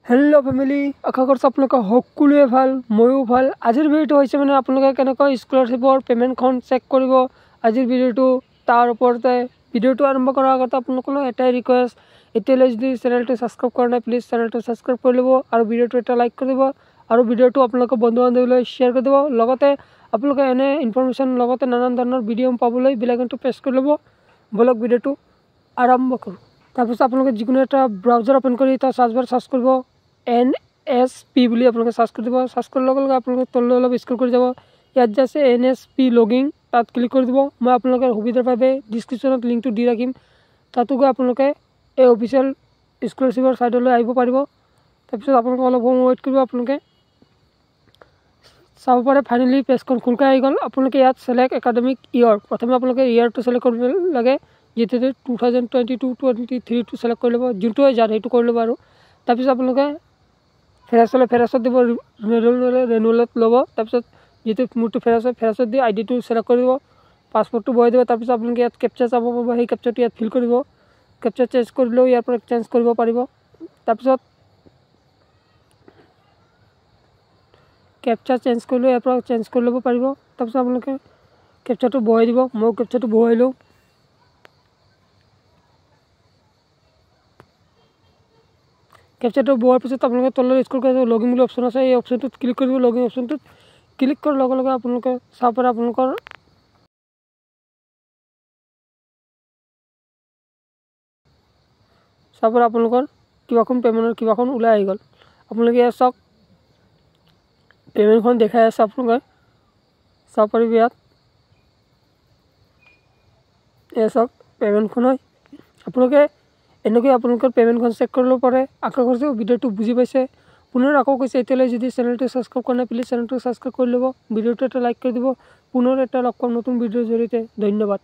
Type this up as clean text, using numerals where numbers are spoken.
Hello' family, আশা কৰিছোঁ আপোনালোকে সকলোৱে ভাল, ময়ো ভাল। আজিৰ ভিডিঅ'টো হৈছে মানে আপোনালোকে কেনেকৈ স্কলাৰশ্বিপৰ পে'মেণ্টখন চেক কৰিব, আজিৰ ভিডিঅ'টো তাৰ ওপৰতে। ভিডিঅ'টো আৰম্ভ কৰাৰ আগতে আপোনালোকলৈ এটাই ৰিকুৱেষ্ট, এতিয়ালৈ যদি চেনেলটো ছাবস্ক্ৰাইব কৰা নাই, প্লিজ চেনেলটো ছাবস্ক্ৰাইব কৰি ল'ব আৰু ভিডিঅ'টো এটা লাইক কৰি দিব আৰু ভিডিঅ'টো আপোনালোকৰ বন্ধু বান্ধৱীলৈ শ্বেয়াৰ কৰি দিব। লগতে আপোনালোকে এনে ইনফৰমেশ্যন লগতে নানান ধৰণৰ ভিডিঅ' পাবলৈ বেল আইকনটো প্ৰেছ কৰি ল'ব। ব'লক ভিডিঅ'টো আৰম্ভ কৰোঁ। তাৰপিছত আপোনালোকে যিকোনো এটা ব্ৰাউজাৰ অ'পেন কৰি তাৰ চাৰ্চ বাৰ চাৰ্চ কৰিব এন এছ পি বুলি আপোনালোকে চাৰ্চ কৰি দিব। চাৰ্চ কৰাৰ লগে লগে আপোনালোকে তললৈ অলপ স্ক্ৰল কৰি যাব, ইয়াত যে আছে এন এছ পি লগিং, তাত ক্লিক কৰি দিব। মই আপোনালোকৰ সুবিধাৰ বাবে ডিছক্ৰিপশ্যনত লিংকটো দি ৰাখিম, তাতো গৈ আপোনালোকে এই অফিচিয়েল স্কলাৰশ্বিপৰ ছাইডলৈ আহিব পাৰিব। তাৰপিছত আপোনালোকে অলপ সময় ৱেইট কৰিব, আপোনালোকে চাব পাৰে ফাইনেলি পেজখন খোল খাই আহি গ'ল। আপোনালোকে ইয়াত ছিলেক্ট একাডেমিক ইয়েৰ, প্ৰথমে আপোনালোকে ইয়েৰটো ছিলেক্ট কৰিব লাগে, যিটো 2022-23টো ছিলেক্ট কৰি ল'ব, যোনটো হয় যাৰ সেইটো কৰি ল'ব। আৰু তাৰপিছত আপোনালোকে ফ্ৰেছ হ'লে ফ্ৰেছত দিব, ৰেনুৱেল হ'লে ৰেনুৱেলত ল'ব। তাৰপিছত যিটো মোৰটো ফ্ৰেছ হয় ফ্ৰেছত দি আই ডিটো ছিলেক্ট কৰিব, পাছপৰ্টটো বহাই দিব। তাৰপিছত আপোনালোকে ইয়াত কেপচাৰ চাব পাব, সেই কেপচাৰটো ইয়াত ফিল কৰিব, কেপচাৰ চেঞ্জ কৰিলেও ইয়াৰ পৰা চেঞ্জ কৰিব পাৰিব। তাৰপিছত কেপচাৰ চেঞ্জ কৰিলেও ইয়াৰ পৰা চেঞ্জ কৰি ল'ব পাৰিব। তাৰপিছত আপোনালোকে কেপচাৰটো বহাই দিব, মই কেপচাৰটো বহাই লওঁ। কেপচাৰটো বহোৱাৰ পিছত আপোনালোকে তললৈ স্ক্ৰল কৰি লগ ইন বুলি অপশ্যন আছে, এই অপশ্যনটোত ক্লিক কৰিব। লগ ইন অপশ্যনটোত ক্লিক কৰাৰ লগে লগে আপোনালোকে চাব পাৰে আপোনালোকৰ চাব পাৰে আপোনালোকৰ কিবাখন পে'মেণ্টৰ কিবাখন ওলাই আহি গ'ল। আপোনালোকে ইয়াত চাওক পে'মেণ্টখন দেখাই আছে, আপোনালোকে চাব পাৰিব ইয়াত। এয়া চাওক পে'মেণ্টখন হয়। আপোনালোকে এনেকৈ আপোনালোকৰ পে'মেণ্টখন চেক কৰি ল'ব পাৰে। আশা কৰিছোঁ ভিডিঅ'টো বুজি পাইছে। পুনৰ আকৌ কৈছে, এতিয়ালৈ যদি চেনেলটো ছাবস্ক্ৰাইব কৰা নাই, প্লিজ চেনেলটো ছাবস্ক্ৰাইব কৰি ল'ব, ভিডিঅ'টো এটা লাইক কৰি দিব। পুনৰ এটা লগ পাম নতুন ভিডিঅ'ৰ জৰিয়তে। ধন্যবাদ।